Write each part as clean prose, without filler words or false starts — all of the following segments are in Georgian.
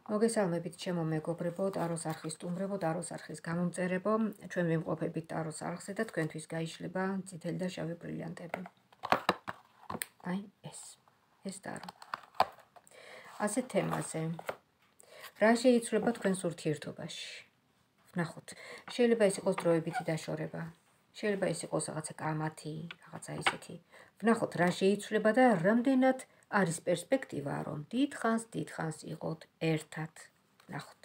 მოგესალმებით ჩემო მეგობრებო, ტაროს არხის სტუმრებო, ტაროს არხის გამომწერებო, ჩვენ ვიმყოფებით ტაროს არხზე და თქვენთვის გაიშლება წითელი და შავი ბრილიანტები. აი ეს ტარო. ასეთ თემაზე. რა შეიცვლება თქვენს ურთიერთობაში? ვნახოთ. შეიძლება ეს იყოს დროებითი დაშორება. შეიძლება ეს იყოს რაღაცა კამათი, რაღაცა ისეთი. ვნახოთ რა შეიცვლება და რამდენად არის პერსპექტივა, რომ დიდხანს იყოთ ერთად. ვნახოთ.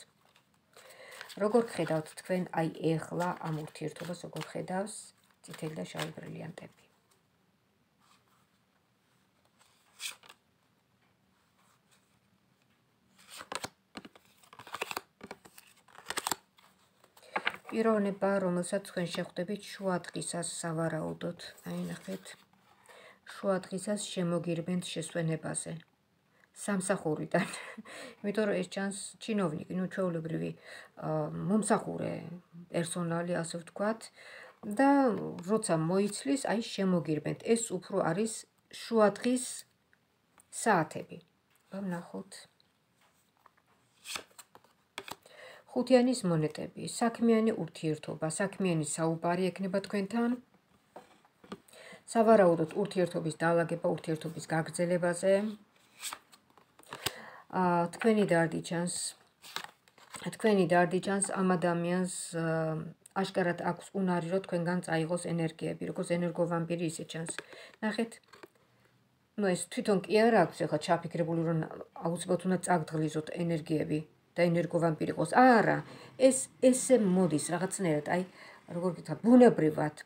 როგორ ხედავთ თქვენ აი ეხლა ამ ურთიერთობას, როგორ ხედავს წითელი და შავი ბრილიანტები? პიროვნება, რომელსაც თქვენ შეხვდებით შუა დღისას სავარაუდოდ, აი ნახეთ. შუა დღისას შემოგირბენთ შესვენებაზე. სამსახურიდან. იმიტომ რომ ეს ჩანს ჩინოვნიკი, ჩვეულებრივი მომსახურე პერსონალი, ასე ვთქვათ, და როცა მოიცლის, აი შემოგირბენთ. ეს უფრო არის შუა დღის საათები. ვნახოთ. ხუთიანის მონეტები, საქმიანი ურთიერთობა, საქმიანი საუბარი ექნება თქვენთან. სავარაუდოდ ურთიერთობის დაალაგება, ურთიერთობის გაგრძელებაზე. თქვენი დარდი ჩანს ამ ადამიანს აშკარად აქვს უნარი, რომ თქვენგან წაიღოს ენერგიები, როგორც ენერგოვამპირი ისე ჩანს. ნახეთ. ეს თვითონ კი არ აქვს ახლა ჩაფიქრებული, რომ აუცილებლად უნდა წაგდღლიზოთ ენერგიები და ენერგოვამპირი იყოს. არა, ესე მოდის რაღაცნაირად, აი როგორ გითხრა,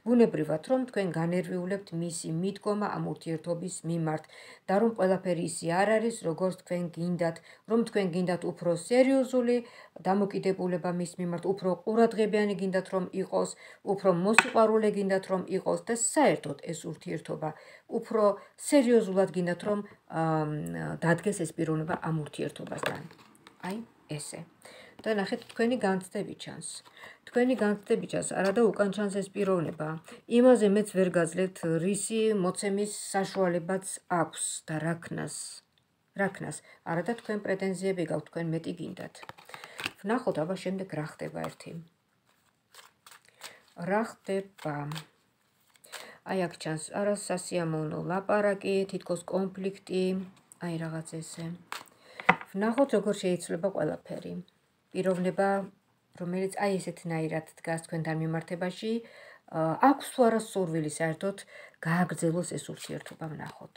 ბუნებრივად, რომ თქვენ განერვიულებთ მისი მიდგომა ამ ურთიერთობის მიმართ და რომ ყველაფერი ისე არ არის, როგორც თქვენ გინდათ, რომ თქვენ გინდათ უფრო სერიოზული დამოკიდებულება მის მიმართ, უფრო ყურადღებიანი გინდათ რომ იყოს, უფრო მოსიყვარულე გინდათ რომ იყოს და საერთოდ ეს ურთიერთობა უფრო სერიოზულად გინდათ რომ დადგეს ეს პიროვნება ამ ურთიერთობასთან. აი ესე. და ნახეთ, თქვენი განცდები ჩანს. არა და უკან ჩანს ეს პიროვნება. იმაზე მეც ვერ გაძლევთ, რისი მოცემის საშუალებაც აქვს და რა ქნას. არა და თქვენ პრეტენზიები გაქვთ, თქვენ მეტი გინდათ. ვნახოთ, აბა შემდეგ რა ხდება ერთი. რა ხდება? აი აქ ჩანს არასასიამოვნო ლაპარაკი, თითქოს კონფლიქტი, აი რაღაც ესე. ვნახოთ, როგორ შეიცვლება ყველაფერი. პიროვნება, რომელიც აი ესეთნაირად დგას თქვენთან მიმართებაში, აქვს თუ არა სურვილი საერთოდ გააგრძელოს ეს ურთიერთობა, ვნახოთ.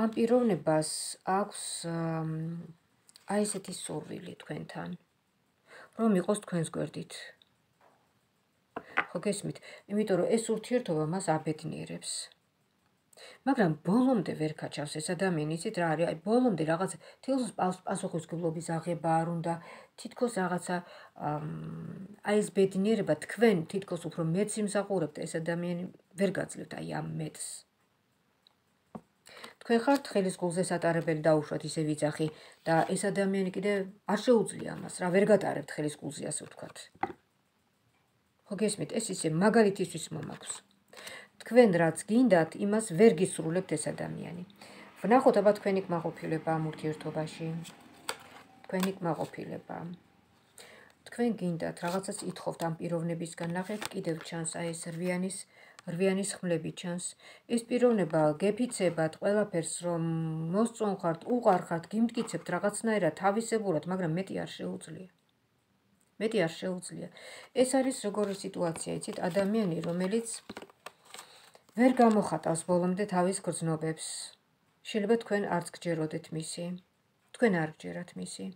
ამ პიროვნებას აქვს აი ესეთი სურვილი თქვენთან, რომ იყოს თქვენს გვერდით. ხო გესმით? იმიტომ რომ ეს ურთიერთობა მას აბედნიერებს. მაგრამ ბოლომდე ვერ გაჩავს ეს ადამიანი, იცით რა არის? აი ბოლომდე რაღაც თითქოს პასუხისმგებლობის აღება არ უნდა, თითქოს რაღაცა აი ეს ბედნიერება თქვენ თითქოს უფრო მეტს იმსახურებთ, ეს ადამიანი ვერ გაძლევთ აი ამ მეტს. თქვენ ხართ ხელის გულზე სატარებელი დაუშვათ ისე ვიძახი და ეს ადამიანი კიდე არ შეუძლია ამას, რა ვერ გატარებთ ხელის გულზე, ასე ვთქვათ. ხო გესმით, ეს ისე მაგალითისთვის მომაქვს. თქვენ რაც გინდათ, იმას ვერ გისრულებთ ეს ადამიანი. ვნახოთ, აბა თქვენი კმაყოფილება ამ ურთიერთობაში. თქვენ გინდათ, რაღაცას ითხოვთ ამ პიროვნებისგან, ნახეთ, კიდევ ჩანს აი ეს რვიანის ხმლები ჩანს. ეს პიროვნება გეფიცებათ ყველაფერს, რომ მოსწონხართ, უყარხართ, გიმტკიცებთ რაღაცნაირად თავისებურად, მაგრამ მეტი არ შეუძლია. ეს არის როგორი სიტუაცია, იცით, ადამიანი, რომელიც ვერ გამოხატავს ბოლომდე თავის გრძნობებს. შეიძლება თქვენ არც გჯეროდეთ მისი. თქვენ არ გჯერათ მისი.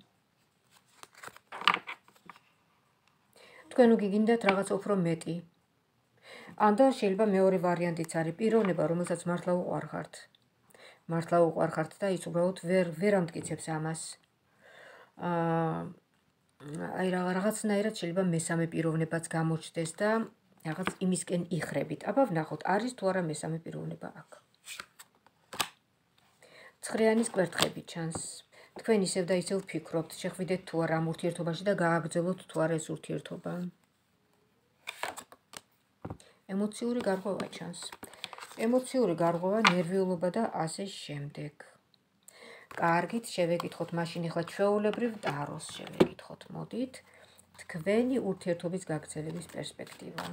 თქვენ უგიგინდათ რაღაც უფრო მეტი. ან და შეიძლება მეორე ვარიანტიც არის პიროვნება, რომელსაც მართლა უყვარხართ და ის უბრალოდ ვერ ამტკიცებს ამას. აი რაღაცნაირად შეიძლება მესამე პიროვნებაც გამოჩნდეს და რაღაც იმისკენ იხრებით. აბა ვნახოთ, არის თუ არა მესამე პიროვნება აქ. ცხრიანის კვერთხები ჩანს. თქვენ ისევ და ისევ ვფიქრობთ, შეხვიდეთ თუ არა ამ ურთიერთობაში და გააგრძელოთ თუ არა ეს ურთიერთობა. ემოციური გარღვევა ჩანს. ნერვიულობა და ასე შემდეგ. კარგით, შევეკითხოთ მაშინ ახლა ჩვეულებრივ ტაროს შევეკითხოთ, მოდით. თქვენი ურთიერთობის გაგრძელების პერსპექტივა.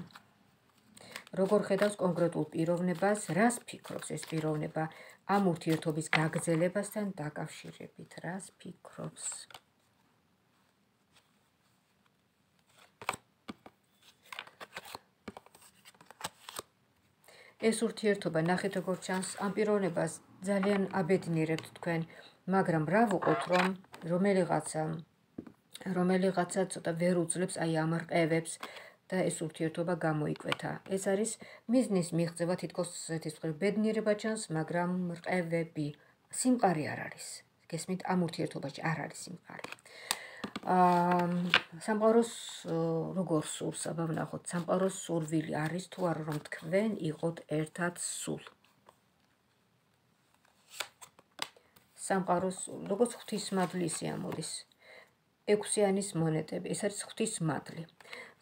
როგორ ხედავს კონკრეტულ პიროვნებას, რას ფიქრობს ეს პიროვნება ამ ურთიერთობის გაგრძელებასთან დაკავშირებით, რას ფიქრობს? ეს ურთიერთობა ნახეთ როგორ ჩანს, ამ პიროვნებას ძალიან აბედნიერებთ თქვენ, მაგრამ რა ვუყოთ, რომ რომელიღაცა ცოტა ვერ უძლებს აი ამ რყევებს და ეს ურთიერთობა გამოიკვეთა. ეს არის მიზნის მიღწევა, თითქოს ესეთი ბედნიერება ჩანს, მაგრამ რყევები, სიმყარე არ არის. გესმით, ამ ურთიერთობაში არ არის სიმყარე. სამყაროს როგორ სურს, აბა ვნახოთ, სამყაროს სურვილი არის თუ არა, რომ თქვენ იყოთ ერთად სულ. სამყაროს როგორც ღვთისმადლის ამოდის. 6-იანის მონეტები, ეს არის ღვთისმადლი.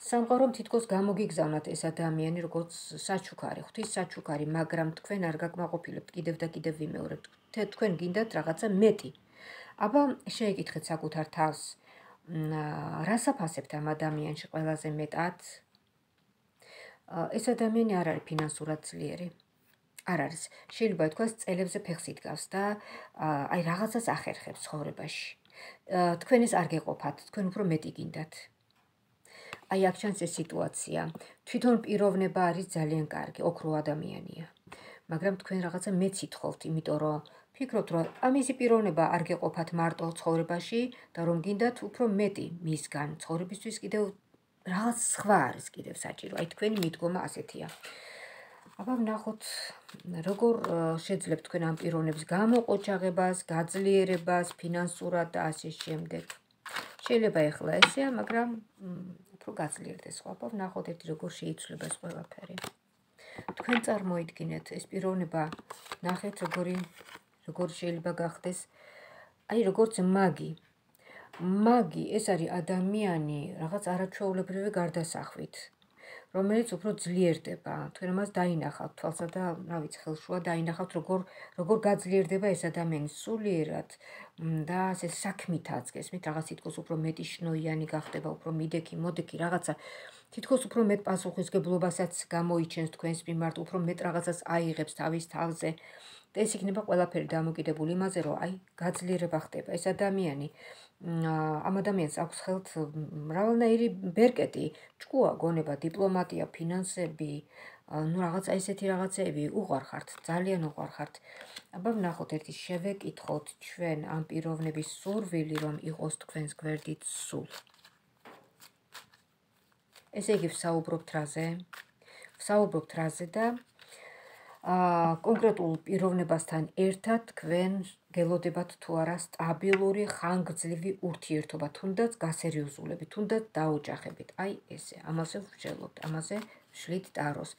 სამყარომ თითქოს გამოგიგზავნათ ეს ადამიანი როგორც საჩუქარი, ღვთის საჩუქარი, მაგრამ თქვენ არ გაკმაყოფილებთ, კიდევ და კიდევ ვიმეორებთ. თქვენ გინდათ რაღაცა მეტი. აბა შეეკითხეთ საკუთარ თავს, რას აფასებთ ამ ადამიანში ყველაზე მეტად? ეს ადამიანი არ არის ფინანსურად ძლიერი. არ არის. შეიძლება თქვას წელებზე ფეხს იდგავს და აი რაღაცას ახერხებს ცხოვრებაში. თქვენ ეს არ გეყოფათ, თქვენ უფრო მეტი გინდათ. აი აქ ჩანს ეს სიტუაცია. თვითონ პიროვნება არის ძალიან კარგი, ოქრო ადამიანია. მაგრამ თქვენ რაღაცა მეც ითხოვთ, იმიტომ რომ ფიქრობთ, რომ ამისი პიროვნება არ გეყოფათ მარტო ცხოვრებაში და რომ გინდათ უფრო მეტი მისგან ცხოვრებისთვის კიდევ რაღაც სხვა არის კიდევ საჭირო. აი თქვენი მიდგომა ასეთია. აბა ვნახოთ, როგორ შეძლებთ თქვენ ამ პიროვნების გამოყოჩაღებას, გაძლიერებას, ფინანსურად და ასე შემდეგ. შეიძლება ეხლა ესეა, მაგრამ უფრო გაძლიერდეს ხო? აბა ვნახოთ ერთი როგორ შეიცვლება ეს ყველაფერი. თქვენ წარმოიდგინეთ ეს პიროვნება, ნახეთ როგორ შეიძლება გახდეს, აი როგორც მაგი. მაგი ეს არის ადამიანი რაღაც არაჩვეულებრივი გარდასახვით, რომელიც უფრო ძლიერდება. თქვენ მას დაინახავთ თვალსა და რა ვიცი, ხელშუა დაინახავთ როგორ გაძლიერდება ეს ადამიანი სულიერად და ასე საქმითაც, გესმით, რაღაც თითქოს უფრო მეტი შნოიანი გახდება, უფრო მიდექი, მოდექი რაღაცა. თითქოს უფრო მეტ პასუხისგებლობასაც გამოიჩენს თქვენს მიმართ, უფრო მეტ რაღაცას აიღებს თავის თავზე. და ეს იქნება ყველაფერი დამოკიდებული იმაზე, რომ აი გაძლიერება ხდება. ეს ადამიანი ამ ადამიანს აქვს ხელთ მრავალნაირი ბერკეტი, ჭკუა, გონება, დიპლომატია, ფინანსები, რაღაცა ესეთი რაღაცეები უყვარხართ, ძალიან უყვარხართ. აბა ვნახოთ ერთი შევეკითხოთ ჩვენ ამ პიროვნების სურვილი, რომ იყოს თქვენს გვერდით სულ. ესე იგი ვსაუბრობთ ვსაუბრობთ რაზე და კონკრეტულ პიროვნებასთან ერთად თქვენ გელოდებათ თუ არა სტაბილური, ხანგრძლივი ურთიერთობა, თუნდაც გასერიოზულებით, თუნდაც დაოჯახებით. აი ესე, ამაზე ვსჯელობთ, ამაზე ვშლით ტაროს.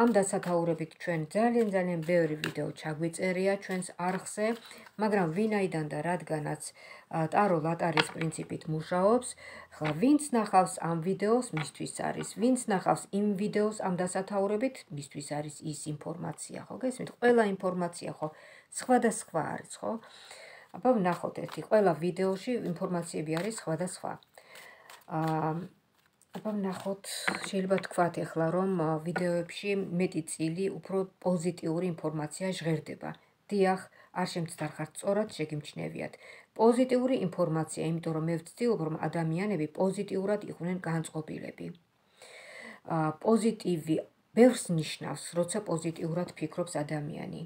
ამ დასათაურებით ჩვენ ძალიან ბევრი ვიდეო ჩაგვიწერია ჩვენს არხზე, მაგრამ ვინაიდან და რადგანაც ტარო ლატარის პრინციპით მუშაობს, ხლა ვინც ნახავს ამ ვიდეოს, მისთვის არის, ვინც ნახავს იმ ვიდეოს ამ დასათაურებით, მისთვის არის ის ინფორმაცია, ხო გესმით? ყველა ინფორმაცია ხო სხვადასხვა არის, ხო? აბა ვნახოთ ერთი, ყველა ვიდეოში ინფორმაციები არის სხვადასხვა. აბა ვნახოთ, შეიძლება თქვათ ეხლა, რომ ვიდეოებში მეტი წილი უფრო პოზიტიური ინფორმაცია ჟღერდება. დიახ, არ შემცდარხართ, სწორად შეგიმჩნევიათ. პოზიტიური ინფორმაცია, იმიტომ რომ მე ვცდილობ, რომ ადამიანები პოზიტიურად იყვნენ განწყობილები. პოზიტივი ბევრს ნიშნავს, როცა პოზიტიურად ფიქრობს ადამიანი.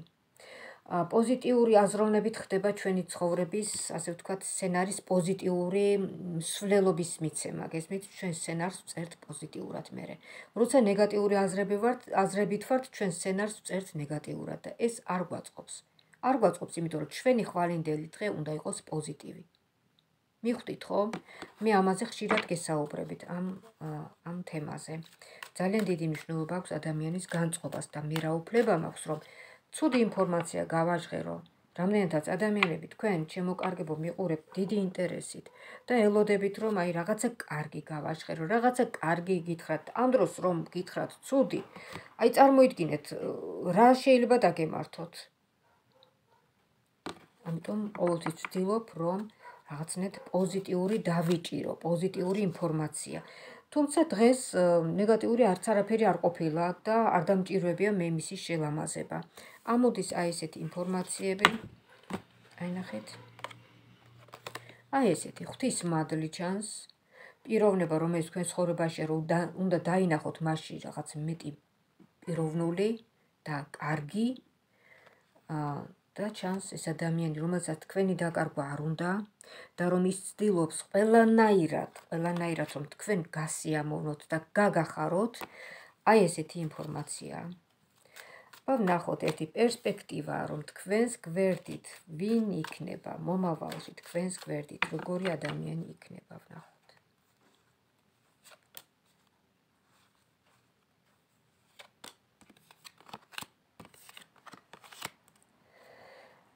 პოზიტიური აზროვნებით ხდება ჩვენი ცხოვრების, ასე ვთქვათ, სცენარის პოზიტიური მსვლელობის მიცემა. გესმით, ჩვენ სცენარს ვწერთ პოზიტიურად მერე. როცა ნეგატიური აზრებით ვართ, ჩვენ სცენარს ვწერთ ნეგატიურად და ეს არ გვაწყობს. არ გვაწყობს, იმიტომ რომ ჩვენი ხვალინდელი დღე უნდა იყოს პოზიტივი. მიხვდით ხო? მე ამაზე ხშირად გესაუბრებით ამ თემაზე. ძალიან დიდი მნიშვნელობა აქვს ადამიანის განწყობას და მე რა უფლება მაქვს, რომ ცუდი ინფორმაცია გავაჟღერო. რამდენადაც ადამიანები თქვენ ჩემოკარგებო მიყურებთ დიდი ინტერესით და ელოდებით, რომ აი რაღაცა კარგი გავაჟღერო, რაღაცა კარგი გითხრათ, ამ დროს რომ გითხრათ ცუდი, აი წარმოიდგინეთ, რა შეიძლება დაგემართოთ. ამიტომ ყოველთვის ვცდილობ, რომ რაღაცნაირად პოზიტიური დავიჭირო, პოზიტიური ინფორმაცია. თუმცა დღეს ნეგატიური არც არაფერი არ ყოფილა და არ დამჭირვებია მე მისის შელამაზება. ამოდის აი ესეთი ინფორმაციები. აი ნახეთ. აი ესეთი ღვთის მადლი ჩანს. პიროვნება, რომელიც თქვენ ცხოვრებაში უნდა დაინახოთ მასში რაღაც მეტი პიროვნული და კარგი და ჩანს ეს ადამიანი, რომელსაც თქვენი დაკარგვა არ უნდა და რომ ის ცდილობს ყველანაირად რომ თქვენ გასიამოვნოთ და გაგახაროთ, აი ესეთი ინფორმაციაა. ვნახოთ ერთი პერსპექტივა, რომ თქვენს გვერდით ვინ იქნება მომავალში, თქვენს გვერდით როგორი ადამიანი იქნება, ვნახოთ.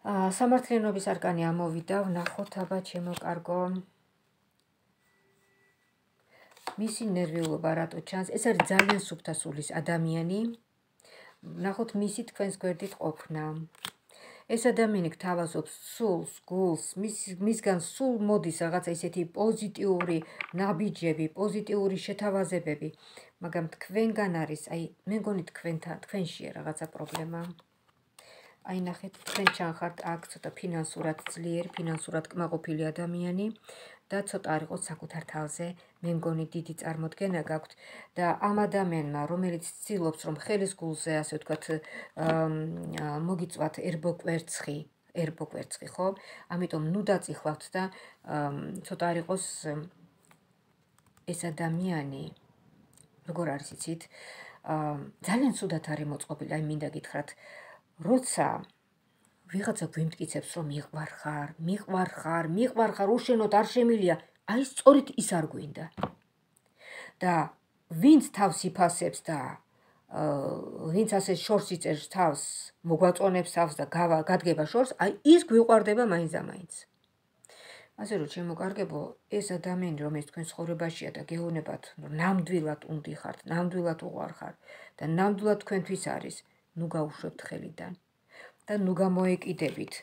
სამართლიანობის არკანი ამოვიდა, ვნახოთ აბა ჩემო კარგო. მისი ნერვიულობა რატო ჩანს? ეს არის ძალიან სუფთა სულის ადამიანი. ვნახოთ მისი თქვენს გვერდით ყოფნა. ეს ადამიანი გთავაზობს სულს, გულს, მისგან სულ მოდის რაღაცა ისეთი პოზიტიური ნაბიჯები, პოზიტიური შეთავაზებები, მაგრამ თქვენგან არის, აი მე მგონი თქვენშია რაღაცა პრობლემა. აი ნახეთ, თქვენ ჩანხართ აქ ცოტა ფინანსურად ძლიერ, ფინანსურად კმაყოფილი ადამიანი და ცოტა არ იყოს საკუთარ თავზე, მე მგონი დიდი წარმოდგენა გაქვთ და ამ ადამიანმა, რომელიც ცდილობს, რომ ხელის გულზე, ასე ვთქვათ, მოგიწვათ ერბოკვერცხი, ხო? ამიტომ ნუ დაწიხლავთ და ცოტა არ იყოს ეს ადამიანი, როგორ არის იცით, ძალიან ცუდად არის მოწყობილი, აი მინდა გითხრათ, როცა ვიღაცა გვიმტკიცებს, რომ მიყვარხარ, უშენოდ არ შემილია, აი სწორედ ის არ გვინდა. და ვინც თავს იფასებს და ვინც ასე შორს იწერს თავს, მოგვაწონებს თავს და გადგება შორს, აი ის გვიყვარდება მაინც და მაინც. ასე რომ ჩემო კარგებო, ეს ადამიანი, რომელიც თქვენ ცხოვრებაშია და გეუბნებათ, რომ ნამდვილად უნდიხართ, ნამდვილად უყვარხარ და ნამდვილად თქვენთვის არის, ნუ გაუშვებთ ხელიდან. და ნუ გამოეკიდებით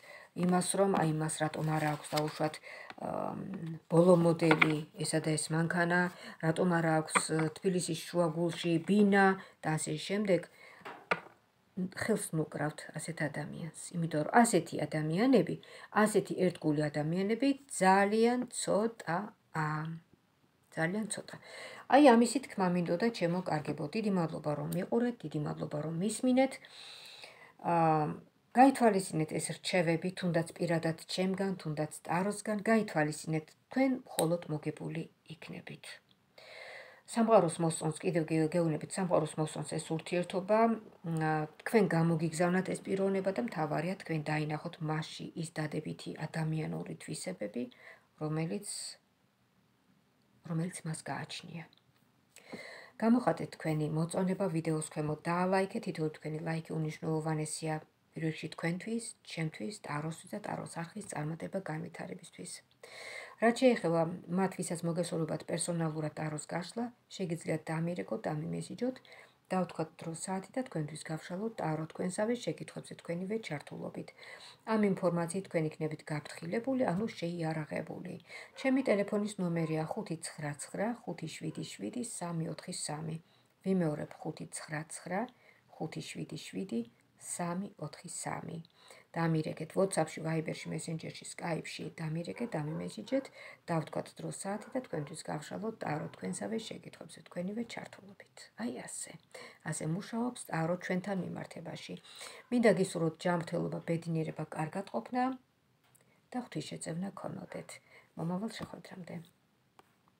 იმას, რომ აი მას რატომ არ აქვს დაუშვათ ბოლო მოდელი ესა და ეს მანქანა, რატომ არ აქვს თბილისის შუაგულში ბინა და ასე შემდეგ. ხელს ნუკრავთ ასეთ ადამიანს, იმიტომ რომ ასეთი ადამიანები, ასეთი ერთგული ადამიანები ძალიან ცოტაა. ძალიან ცოტა. აი ამისი თქმა მინდოდა ჩემო კარგებო, დიდი მადლობა რომ მიყურეთ, დიდი მადლობა რომ მისმინეთ. გაითვალისწინეთ ეს რჩევები, თუნდაც პირადად ჩემგან, თუნდაც ტაროსგან, გაითვალისწინეთ, თქვენ მხოლოდ მოგებული იქნებით. სამყაროს მოსწონს, კიდევ გეუბნებით, სამყაროს მოსწონს ეს ურთიერთობა, თქვენ გამოგიგზავნათ ეს პიროვნება და მთავარია თქვენ დაინახოთ მასში ის დადებითი ადამიანური თვისებები, რომელიც მას გააჩნია. გამოხატეთ თქვენი მოწონება ვიდეოს ქვემოთ, დაალაიქეთ, თითოეული თქვენი ლაიქი უნიშნულოვანესია პირველ რიგში თქვენთვის, ჩემთვის, ტაროსთვის და ტაროს არხის წარმატება განვითარებისთვის. რაც შეეხება მათ, ვისაც მოგესურვებათ პერსონალურად ტაროს გაშლა, შეგიძლიათ დამირეკოთ, დამიმესიჯოთ, დავთქვათ დრო საათი და თქვენთვის გავშალოთ ტარო თქვენსავე შეკითხვებზე თქვენივე ჩართულობით. ამ ინფორმაციით თქვენ იქნებით გაფრთხილებული, ანუ შეიარაღებული. ჩემი ტელეფონის ნომერია 599 577 343. ვიმეორებ 599 577 343. დამირეკეთ WhatsApp-ში, Viber-ში, Messenger-ში, Skype-ში, დამირეკეთ, დამიმესიჯეთ, დავთქვათ დრო საათი და თქვენთვის გავშალოთ ტარო თქვენსავე შეკითხვებზე თქვენივე ჩართულობით. აი ასე მუშაობს ტარო ჩვენთან მიმართებაში. მინდა გისურვოთ ჯანმრთელობა, ბედნიერება, კარგად ყოფნა და ღვთისშეწევნა გქონოდეთ. მომავალ შეხვედრამდე.